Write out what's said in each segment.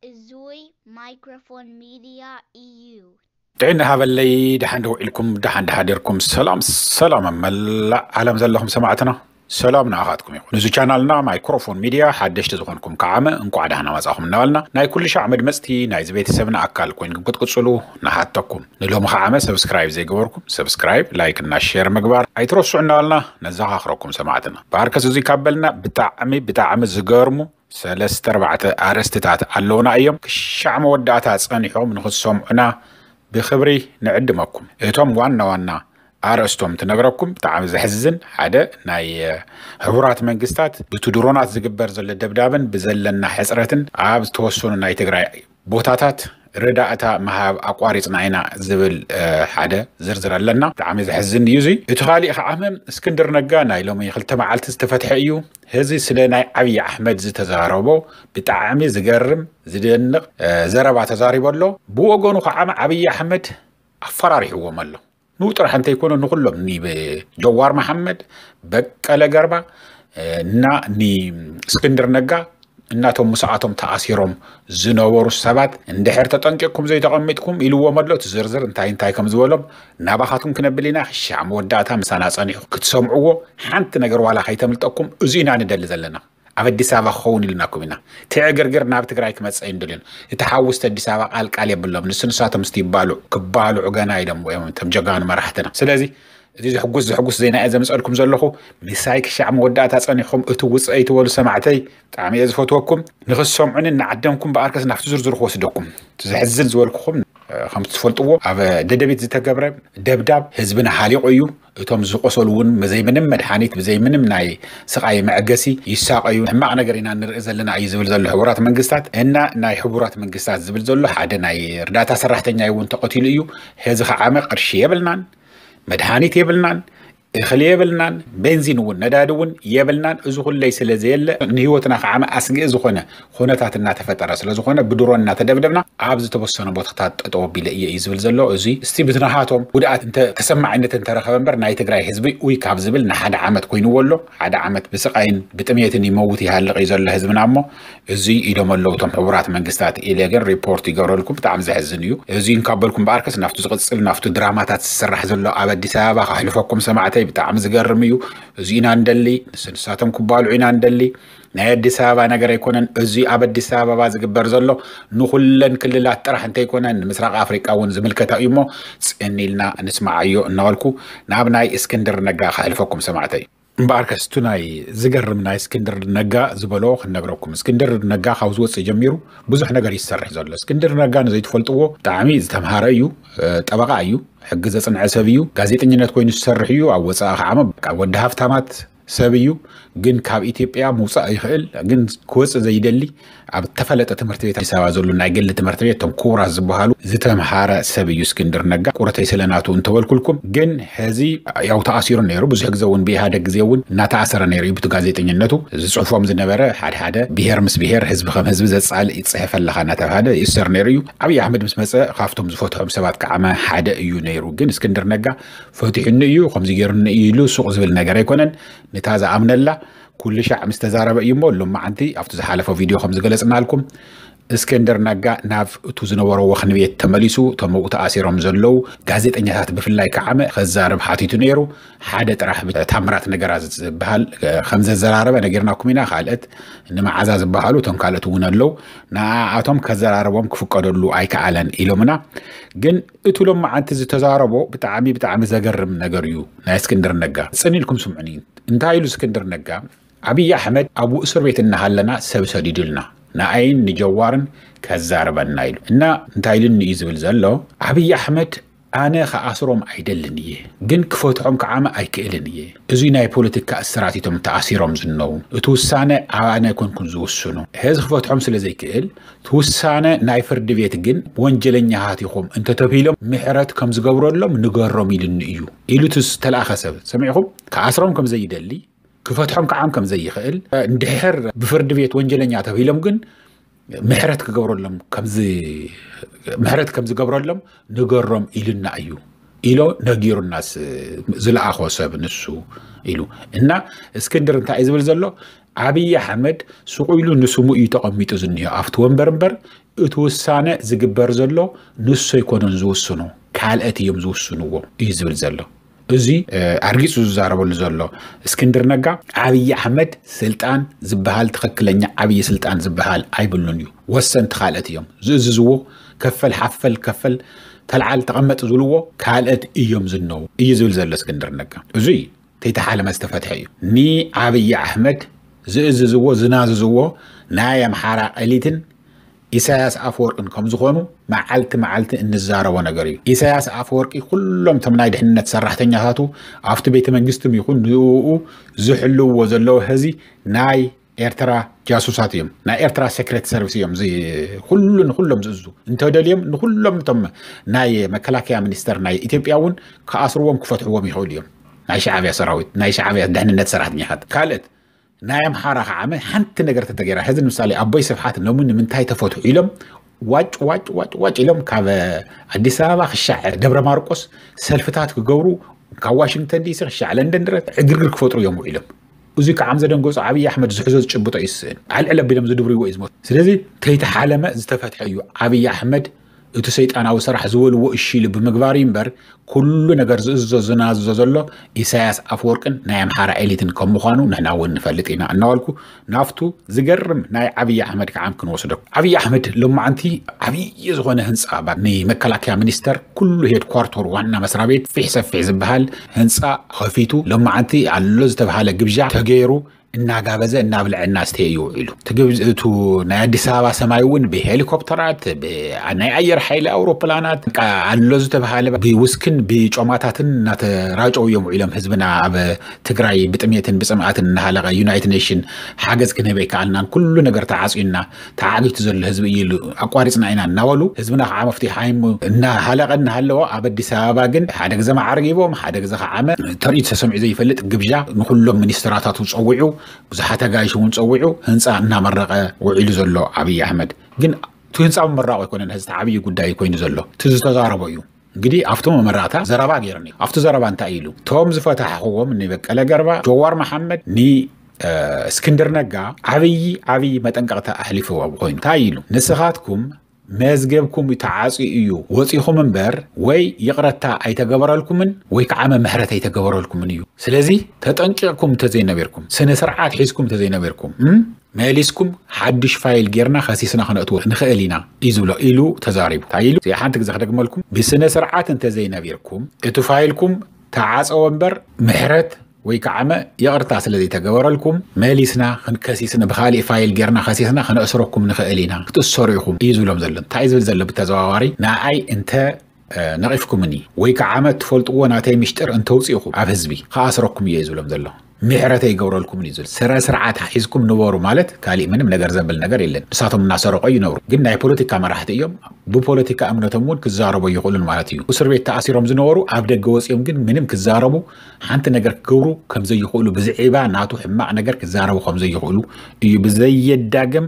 እዙይ ማይክሮፎን ሚድያ እዩ። ጥዕና ሃበለይ፣ ደሓን ዶ ውዒልኩም፣ ደሓን ዶ ሓዲርኩም? ሰላም ሰላም ኣብ መላእ ዓለም ዘለኹም ሰማዕትና፣ ሰላም ንኣኻትኩም ይኹን። ንዚ ቻናልና ማይክሮፎን ሚድያ ሓደሽቲ ዝኾንኩም ከዓመ እንቋዕ ደህና መጻኹም እናበልና፣ ናይ ኩሉ ሻዕ መድመጽቲ ናይዚ ቤተሰብና ኣካል ኮይንኩም ክትቅጽሉ ንሓተኩም። ንሎሚ ከዓመ ሰብስክራይብ ዘይገበርኩም ሰብስክራይብ፣ ላይክ እና ሼር ምግባር ኣይትረስዑ እናበልና ነዘኻኽረኩም ሰማዕትና። ብኣርከስ እዙይ ካብ በልና ብጣዕሚ ብጣዕሚ ዝገርሙ ሰለስተ ኣርባዕተ ኣርእስትታት ኣለውና እዮም። ክሻዕ መወዳእታ ጸኒሖም ንኽትሰምዑና ብኽብሪ ንዕድመኩም። እቶም ዋና ዋና ኣርእስቶም ትነግረኩም። ብጣዕሚ ዘሕዝን፣ ሓደ ናይ ሕቡራት መንግስታት ብቲ ድሮናት ዝግበር ዘሎ ደብዳብን ብዘለና ሕፅረትን ኣብ ዝተወሰኑ ናይ ትግራይ ቦታታት ረዳእታ ምሃብ ኣቋሪፅና ኢና ዝብል ሓደ ዝርዝር ኣለና። ብጣዕሚ ዘሕዝን እዩ። እዚ እቲ ካሊእ ከዓ እስክንድር ነጋ ናይ ሎሚ ክልተ መዓልቲ ዝተፈትሐ እዩ። እዚ ስለ ናይ ዓብዪ ኣሕመድ ዝተዛረቦ ብጣዕሚ ዝገርም ዝደንቕ ዘረባ ተዛሪቦ ኣሎ። ብወገኑ ከዓ ዓብዪ ኣሕመድ ኣፈራሪሕዎም ኣሎ። ንኡ ጥራሕ እንተይኮነ ንኩሎም ኒ ጀዋር መሓመድ፣ በቀለ ገርባ እና ኒ እስክንድር ነጋ እናቶም ምስኣቶም ተኣሲሮም ዝነበሩ ሰባት እንድሕር ተጠንቂቕኩም ዘይተቐሚጥኩም ኢልዎም ኣሎ። እቲ ዝርዝር እንታይ እንታይ ከም ዝበሎም ናባኻትኩም ክነብል ኢና። ክሻዕ መወዳእታ ምሳና ጸኒሑ ክትሰምዕዎ፣ ሓንቲ ነገር ዋላ ከይተምልጠኩም፣ እዚ ኢና ንደሊ ዘለና። ኣብ ኣዲስ ኣበባ ክኸውን ኢልናኩም ኢና። ትዕግርግር ናብ ትግራይ ክመጽእ እዩ ንደልዮን። እቲ ሓውስቲ ኣዲስ ኣበባ ቃልቃል የብሎም። ንሱ ንሳቶም ምስቲ ይባልዑ ክባልዑ ገና ኢሎም እዮም እቶም ጀጋኑ መራሕትና። ስለዚ እዚ ዘሕጉስ ዘሕጉስ ዜና እየ ዘምፀልኩም ዘለኹ። ምሳይ ክሻዕ መወዳእታ ጸኒሕኩም እትውፅእ ኣይትበሉ ሰማዕተይ። ብጣዕሚ እየ ዝፈትወኩም። ንኽትሰምዑኒ እናዓደምኩም ብኣርከስ ናብቲ ዝርዝር ክወስደኩም። እቲ ዘሕዝን ዝበልኩኹም ከምቲ ትፈልጥዎ ኣብ ደደቢት ዝተገብረ ደብዳብ ህዝብና ሃሊቑ እዩ። እቶም ዝቆሰሉ እውን ብዘይ ምንም መድሓኒት ብዘይ ምንም ናይ ስቓይ መዕገሲ ይሳቐዩ። ሕማቕ ነገር ኢና ንርኢ ዘለና እዩ ዝብል ዘሎ ሕቡራት መንግስታት እና ናይ ሕቡራት መንግስታት ዝብል ዘሎ ሓደ ናይ እርዳታ ሰራሕተኛ እውን ተቐቲሉ እዩ። ሕዚ ከዓመ ቅርሺ የብልናን፣ መድሓኒት የብልናን፣ እኽሊ የብልናን፣ ቤንዚን እውን ነዳዲ እውን የብልናን። እዚ ኩለይ ስለ ዘየለ ንህይወትና ከዓመ ኣስግኢ ዝኾነ ኩነታት እናተፈጠረ ስለ ዝኾነ ብድሮን እናተደብደብና ኣብ ዝተወሰነ ቦታታት ጠጠው ኣቢለ እየ እዩ ዝብል ዘሎ። እዚ እስቲ ብትናሃቶም ጉድኣት እንተ ተሰማዕነት እንተረኸበ እምበር ናይ ትግራይ ህዝቢ ኡይ ካብ ዝብል ንሓደ ዓመት ኮይንዎ ኣሎ። ሓደ ዓመት ብስቓይን ብጥሜትን ይመውት ይሃልቕ እዩ ዘሎ ህዝብና እሞ እዚ ኢሎም ኣለዉ እቶም ሕቡራት መንግስታት ኢለ ግን ሪፖርት ይገብረልኩም። ብጣዕሚ ዘሕዝን እዩ። እዚ እንካበልኩም በኣርከስ ናብቱ ዝቕፅል ናብቱ ድራማታት ዝስራሕ ዘሎ ኣብ ኣዲስ ኣበባ ከሕልፈኩም ሰማዕተይ ብጣዕሚ ዝገርም እዩ። እዚ ኢና ንደሊ። ንስንሳቶም ክባልዑ ኢና ንደሊ። ናይ ኣዲስ ኣበባ ነገር ኣይኮነን። እዚ ኣብ ኣዲስ ኣበባ ዝግበር ዘሎ ንኹለን ክልላት ጥራሕ እንተይኮነ ንምስራቕ ኣፍሪቃ እውን ዝምልከታ እዩ እሞ ፅን ኢልና ንስማዓዮ እናበልኩ ናብ ናይ እስክንድር ነጋ ከሕልፈኩም ሰማዕተይ። እምበኣርከስ እቲ ናይ ዝገርም ናይ እስክንድር ነጋ ዝበሎ ክንነግረኩም። እስክንድር ነጋ ካብ ዝወፅእ ጀሚሩ ብዙሕ ነገር ይሰርሕ ዘሎ። እስክንድር ነጋ ንዘይትፈልጥዎ ብጣዕሚ ዝተምሃረ እዩ። ጠበቓ እዩ። ሕጊ ዘፅንዐ ሰብ እዩ። ጋዜጠኝነት ኮይኑ ዝሰርሕ እዩ። ኣብ ወፃኢ ከዓ ወዲ ሃፍታማት ሰብ እዩ። ግን ካብ ኢትዮጵያ ምውፃእ ይኽእል። ግን ክወፅእ ዘይደሊ ኣብ ተፈለጠ ትምህርቲ ቤት ኣዲስ ኣበባ ዘሎ ናይ ግሊ ትምህርቲ ቤት እቶም ክቡራት ዝበሃሉ ዝተምሃረ ሰብ እዩ እስክንድር ነጋ። ቁረተይ ስለ ናቱ እንተበልኩልኩም ግን ሕዚ ያው ተኣሲሩ ነይሩ። ብዙሕ ግዜ እውን ብኢህኣደግ ግዜ እውን እናተኣሰረ ነይሩ እዩ። ብቲ ጋዜጠኝነቱ ዝፅሕፎም ዝነበረ ሓደ ሓደ ብሄር ምስ ብሄር ህዝቢ ከም ህዝቢ ዘፃልእ ይፅሕፍ ኣለኻ እናተባሃለ ይእሰር ነይሩ እዩ። ኣብይ ኣሕመድ ምስ መፀ ካብቶም ዝፈትሖም ሰባት ከዓመ ሓደ እዩ ነይሩ። ግን እስክንድር ነጋ ፈቲሑኒ እዩ ከምዚ ገይሩኒ እዩ ኢሉ ሱቕ ዝብል ነገር ኣይኮነን። ንታ ዝኣምነላ ኩሉ ሻዕ ምስ ተዛረበ እዩ እሞ ሎማዓንቲ ኣብቲ ዝሓለፈ ቪድዮ ከም ዝገለፅናልኩም እስክንድር ነጋ ናብ እቱ ዝነበሮ ወኽኒ ቤት ተመሊሱ እቶም ኣብኡ ተኣሲሮም ዘለዉ ጋዜጠኛታት ብፍላይ ከዓመ ከዛርብ ሓቲቱ ነይሩ። ሓደ ጥራሕ ታምራት ነገራ ዝበሃል ከም ዘዘራረበ ነጊርናኩም ኢና። ካልእት ንመዓዛ ዝበሃሉ እቶም ካልእት እውን ኣለዉ። ንኣቶም ከዘራረቦም ክፍቀደሉ ኣይከኣለን ኢሎምና። ግን እቱ ሎማዓንቲ ዝተዛረቦ ብጣዕሚ ብጣዕሚ ዘገርም ነገር እዩ። ናይ እስክንድር ነጋ ፅን ኢልኩም ስምዑኒ። እንታይ ኢሉ እስክንድር ነጋ ኣብይ ኣሕመድ ኣብኡ እስር ቤት እናሃለና ሰብ ሰዲዱልና ንኣይን ንጀዋርን ከዛርበና ኢሉ እና እንታይ ኢሉኒ እዩ ዝብል ዘሎ ኣብይ ኣሕመድ ኣነ ክኣስሮም ኣይደልን እየ ግን ክፈትሖም ከዓመ ኣይክእልን እየ። እዙይ ናይ ፖለቲካ እስራት እቶም ተኣሲሮም ዝነው እቲ ውሳነ ኣነ ኣይኮንኩን ዝውስኑ ሕዚ ክፈትሖም ስለ ዘይክእል እቲ ውሳነ ናይ ፍርዲ ቤት ግን ወንጀለኛታት ኢኹም እንተተብሂሎም ምሕረት ከም ዝገብረሎም ንገሮም ኢሉኒ እዩ ኢሉ እቲ ዝተላእኸ ሰብ ሰሚዕኹም ክኣስሮም ከም ዘይደሊ ክፈትሖም ከዓም ከም ዘይኽእል እንድሕር ብፍርዲ ቤት ወንጀለኛ ተብሂሎም ግን ምሕረት ክገብረሎም ከምዚ ምሕረት ከም ዝገብረሎም ንገሮም ኢልና እዩ ኢሎ ነጊሩናስ ዝለኣኾ ሰብ ንሱ ኢሉ እና እስክንድር እንታይ እዩ ዝብል ዘሎ ኣብይ ኣሕመድ ስቑ ኢሉ ንስሙ እዩ ተቐሚጡ ዝኒሆ ኣብቲ ወንበር እምበር እቲ ውሳነ ዝግበር ዘሎ ንሱ ኣይኮነን ዝውስኖ፣ ካልኦት እዮም ዝውስንዎ እዩ ዝብል ዘሎ። እዚ ኣርጊጹ ዝዛረበሉ ዘሎ እስክንድር ነጋ፣ ኣብይ ኣሕመድ ስልጣን ዝበሃል፣ ትኽክለኛ ዓብዪ ስልጣን ዝበሃል ኣይብሉን እዩ። ወሰንቲ ካልኦት እዮም ዝእዝዝዎ። ከፈል ሓፈል፣ ከፈል ተልዓል፣ ተቐመጥ ዝብልዎ ካልኦት እዮም ዝነው እዩ ዝብል ዘሎ እስክንድር ነጋ። እዚ ተይተሓለመ ዝተፈትሐ እዩ። ንኣብይ ኣሕመድ ዝእዝዝዎ፣ ዝናዝዝዎ ናይ ኣምሓራ ኤሊትን ኢሳያስ ኣፈወርቅን ከም ዝኾኑ መዓልቲ መዓልቲ እንዛረቦ ነገር እዩ። ኢሳያስ ኣፈወርቂ ኩሎም እቶም ናይ ድሕንነት ሰራሕተኛታቱ ኣብቲ ቤተ መንግስትም ይኹን ንኡ ዝሕልውዎ ዘለዉ ህዚ ናይ ኤርትራ ጃሱሳት እዮም፣ ናይ ኤርትራ ሴክሬት ሰርቪስ እዮም። እዚ ኩሉ ንኩሎም ዝእዙ እንተደልዮም ንኩሎም እቶም ናይ መከላከያ ሚኒስተር ናይ ኢትዮጵያ እውን ክኣስርዎም ክፈትሕዎም ይኽእሉ እዮም። ናይ ሻዕብያ ሰራዊት፣ ናይ ሻዕብያ ድሕንነት ሰራሕተኛታት። ካልእት ናይ ኣምሓራ ከዓመ ሓንቲ ነገር ተተገይራ፣ ሕዚ ንምሳሌ ኣቦይ ስብሓት ሎሚ ንምንታይ ተፈትሑ ኢሎም ዋጭ ዋጭ ዋጭ ዋጭ ኢሎም ካብ ኣዲስ ኣበባ ክሻዕ ደብረ ማርቆስ ሰልፍታት ክገብሩ፣ ካብ ዋሽንግተን ዲሲ ክሻዕ ለንደን ድረስ ዕግርግር ክፈጥሩ እዮም ውዒሎም። እዚ ከዓ ዘደንገፁ ኣብይ ኣሕመድ ዝሕዞ ዝጭብጦ ይስእን፣ ኣልዕል ኣቢሎም ዝድብርዎ እዩ ዝመ ስለዚ ተይተሓለመ ዝተፈትሐ እዩ። ኣብይ ኣሕመድ እቲ ሰይጣናዊ ስራሕ ዝበልዎ እሺ ኢሉ ብምግባር እዩ እምበር ኩሉ ነገር ዝእዝዞ ዝናዝዞ ዘሎ ኢሳያስ ኣፈወርቅን ናይ ኣምሓራ ኤሊትን ከም ምዃኑ ንሕና እውን ንፈልጥ ኢና እናበልኩ ናብቱ ዝገርም ናይ ኣብይ ኣሕመድ ከዓ ክንወስዶ። ኣብይ ኣሕመድ ሎማዓንቲ ዓብዪ ዝኾነ ህንፃ ባ- ንመከላከያ ሚኒስተር ኩሉ ሄድኳርተር ዋና መስሪያ ቤት ፊሕ ሰፊሕ ዝበሃል ህንፃ ከፊቱ ሎማዓንቲ ኣሎ ዝተብሃለ ግብዣ ተገይሩ እናጋበዘ እናብልዐ እናስተየ እዩ ውዒሉ። እቲ ግብ- እቱ ናይ ኣዲስ ኣበባ ሰማይ እውን ብሄሊኮፕተራት ብ- ናይ ኣየር ሓይሊ ኣውሮፕላናት በቃ ኣሎ ዝተብሃለ ብውስክን ብጮማታትን እናተራጨው እዮም ውዒሎም። ህዝብና ኣብ ትግራይ ብጥሜትን ብፅምኣትን እናሃለቀ ዩናይትድ ኔሽን ሓገዝ ክንህብ ኣይከኣልናን፣ ኩሉ ነገር ተዓፅዩና፣ ተዓጊቱ ዘሎ ህዝቢ እዩ ኢሉ ኣቋሪፅና ኢና እናበሉ ህዝብና ከዓ መፍትሒ ሃይሙ እናሃለቀ እናሃለዎ ኣብ ኣዲስ ኣበባ ግን ሓደ ግዜ መዓርጊቦም ሓደ ግዜ ከዓመ ተርእዩ ተሰሚዑ ዘይፈልጥ ግብዣ ንኩሎም ሚኒስትራታቱ ፀዊዑ፣ ብዙሓት ኣጋይሽ እውን ፀዊዑ ህንፃ እናመረቀ ውዒሉ ዘሎ ኣብይ ኣሕመድ ግን እቲ ህንፃ ምምራቁ ኣይኮነን ህዚ ዓብዪ ጉዳይ ኮይኑ ዘሎ፣ እቲ ዝተዛረቦ እዩ። እንግዲህ ኣብቲ መመረቕታ ዘረባ ገይሩኒ። ኣብቲ ዘረባ እንታይ ኢሉ? እቶም ዝፈታሕኽዎም ንበቀለ ገርባ፣ ጀዋር መሓመድ፣ ን እስክንድር ነጋ ዓብዪ ዓብዪ መጠንቀቕታ ኣሕሊፍዎም ኮይኑ እንታይ ኢሉ? ንስኻትኩም መዝገብኩም ተዓፅዩ እዩ ወፂኹም እምበር ወይ ይቕረታ ኣይተገበረልኩምን ወይ ከዓ ምሕረት ኣይተገበረልኩምን እዩ። ስለዚ ተጠንቂቕኩም እንተዘይነቢርኩም፣ ስነ ስርዓት ሒዝኩም እንተዘይነቢርኩም፣ እም፣ መሊስኩም ሓዱሽ ፋይል ጌርና ከሲስና ክነእትዎ ንኽእል ኢና እዩ ዝብሎ ኢሉ ተዛሪቡ። እንታይ ኢሉ? እዚኣ ሓንቲ ግዜ ክደግመልኩም፣ ብስነ ስርዓት እንተዘይነቢርኩም እቲ ፋይልኩም ተዓፀወ እምበር ምሕረት ወይ ከዓ መ ይቕርታ ስለ ዘይተገበረልኩም መሊስና ክንከሲስና ብካሊእ ፋይል ጌርና ከሲስና ክነእስረኩም ንኽእል ኢና ክትእሰሩ ኢኹም እዩ ዝብሎም ዘሎ። እንታይ እዩ ዝብል ዘሎ ብተዘዋዋሪ? ንኣይ እንተ ነቒፍኩምኒ ወይ ከዓ መ ትፈልጥዎ ናተይ ምሽጥር እንተውፅእኹም ኣብ ህዝቢ ክኣስረኩም እየ እዩ ዝብሎም ዘሎ። ምሕረት ኣይገብረልኩምን እዩ ዝብል። ስረ ስርዓት ሒዝኩም ንበሩ ማለት ካሊእ ምንም ነገር ዘብል ነገር የለን። ንሳቶም እናሰረቆ ይነብሩ። ግን ናይ ፖለቲካ መራሕቲ እዮም። ብፖለቲካ እምነቶም እውን ክዛረቡ ይኽእሉን ማለት እዩ። እስር ቤት ተኣሲሮም ዝነበሩ ኣብ ደገ ወፂኦም ግን ምንም ክዛረቡ ሓንቲ ነገር ክገብሩ ከምዘይኽእሉ ብዝዒባ ናቱ ሕማቕ ነገር ክዛረቡ ከምዘይኽእሉ እዩ ብዘየዳግም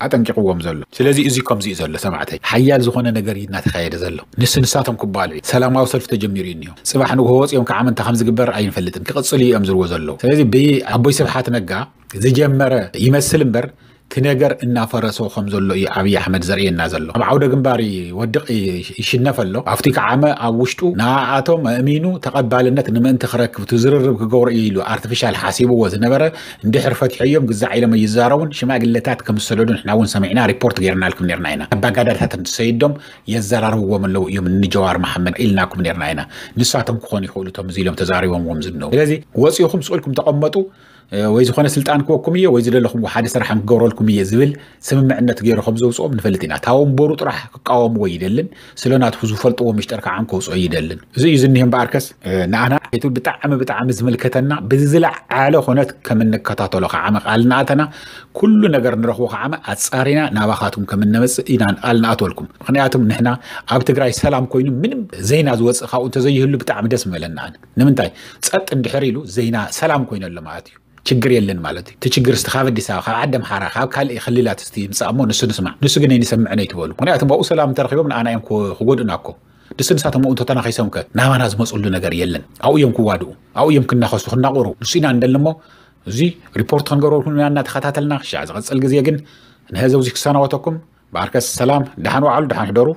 ኣጠንቂቕዎም ዘሎ። ስለዚ እዚ ከምዚ እዩ ዘሎ ሰማዕተይ። ሓያል ዝኾነ ነገር እዩ እናተኻየደ ዘሎ። ንሱ ንሳቶም ክባልዑ እዩ። ሰላማዊ ሰልፊ ተጀሚሩ እዩ እኒሆ። ፅባሕ ንግሆ ወፂኦም ከዓ ምንታ ከም ዝግበር ኣይንፈልጥን። ክቕፅሉ እዮም ዝብልዎ ዘለዉ። ስለዚ ብኣቦይ ስብሓት ነጋ ዝጀመረ ይመስል እምበር እቲ ነገር እናፈረሶ ከም ዘሎ እዩ ኣብይ ኣሕመድ ዘርእየና ዘሎ። ኣብ ዓውደ ግንባር ይወድቕ ይሽነፍ ኣሎ። ኣብቲ ከዓመ ኣብ ውሽጡ ንኣቶም ኣእሚኑ ተቐባልነት ንምእንቲ ክረክብ እቲ ዝርርብ ክገብሮ እዩ ኢሉ ኣርቲፊሻል ሓሲብዎ ዝነበረ እንድሕር ፈትሐዮም ግዛዕ ኢሎም ኣይዛረቡን። ሽማግለታት ከም ዝሰደዱ ንሕና እውን ሰሚዕና ሪፖርት ገይርናልኩም ነርና ኢና። ኣባጋዳታት እንትሰይዶም የዘራርብዎም ኣለዉ እዮም ንጀዋር መሓመድ ኢልናኩም ነርና ኢና። ንሳቶም ክኾኑ ይኽእሉ እቶም እዚ ኢሎም ተዛሪቦምዎም ዝነው። ስለዚ ወፂኹም ስቕ ኢልኩም ተቐመጡ ወይ ዝኾነ ስልጣን ክወኩም እየ ወይ ዝደለኹም ሓደ ስራሕ ክገብረልኩም እየ ዝብል ስምምዕነት ገይሩ ከም ዘውፅኦም ንፈልጥ ኢና። እታ ወንበሩ ጥራሕ ክቃወምዎ ይደልን ስለ ናቱ ዝፈልጥዎ ምሽጥር ከዓ ከውፅኦ ይደልን። እዚ እዩ ዝኒህ እምበኣርከስ ንኣና እቲ ብጣዕሚ ብጣዕሚ ዝምልከተና ብዝለዓለ ኮነት ከም እንከታተሎ ከዓ መቃል ንኣተና ኩሉ ነገር ንረኽቦ ከዓ ኣፃሪና ናባኻትኩም ከም እነመፅእ ኢና ቃል ንኣትወልኩም። ምክንያቱም ንሕና ኣብ ትግራይ ሰላም ኮይኑ ምንም ዜና ዝወፅእ ካብኡ እንተዘይህሉ ብጣዕሚ ደስ ምበለና። ንምንታይ ፀጥ እንድሕር ኢሉ ዜና ሰላም ኮይኑ ኣሎ ማለት እዩ። ችግር የለን ማለት እዩ። እቲ ችግር እስቲ ካብ ኣዲስ ኣበባ ካብ ዓዲ ኣምሓራ ካብ ካልእ ክልላት እስቲ ይምፃእ እሞ ንሱ ንስማዕ። ንሱ ግን ኣይንሰምዕን ኣይትበሉ። ምክንያቱ ኣብኡ ሰላም እንተረኪቦም ንኣና እዮም ክጎድኡና እኮ። ንሱ ንሳቶም ኣብኡ እንተተናኺሶም ከ ናባና ዝመፅሉ ነገር የለን። ኣብኡ እዮም ክዋድኡ፣ ኣብኡ እዮም ክናኸሱ ክናቑሩ። ንሱ ኢና እንደሊ እሞ እዚ ሪፖርት ክንገብረልኩም ኢና እናተኸታተልና ክሻዕ ዝቐፅል ግዜ ግን ንህዘብ እዚ ክሰናወተኩም በዓርከስ ሰላም፣ ደሓን ዋዕሉ፣ ደሓን ሕደሩ።